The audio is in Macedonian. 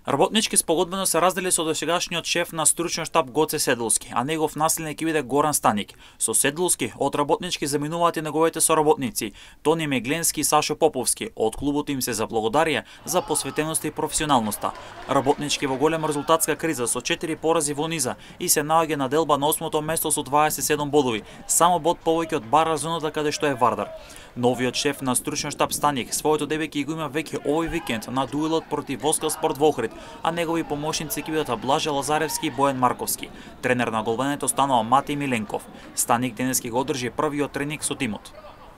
Работнички спогодбено се раздели со досегашниот шеф на стручен штаб Гоце Седловски, а негов наследник ќе биде Горан Станик. Со Седловски од работнички заминуваат и неговите соработници Тони Мегленски и Сашо Поповски. Од клубот им се заблагодарија за посветеноста и професионалноста. Работнички во голема резултатска криза со 4 порази во низа и се наоѓа на делба на 8-то место со 27 бодови, само бод повеќе од бара зоната каде што е Вардар. Новиот шеф на стручен штаб Станик своето дебе ќе го има веќе овој викенд на дуелот против Воскаспорт во Охрид, а негови помошници ќе бидат Блаже Лазаревски и Бојан Марковски. Тренер на голбенето станува Матеј Миленков. Станик денес ќе го одржи првиот тренинг со тимот.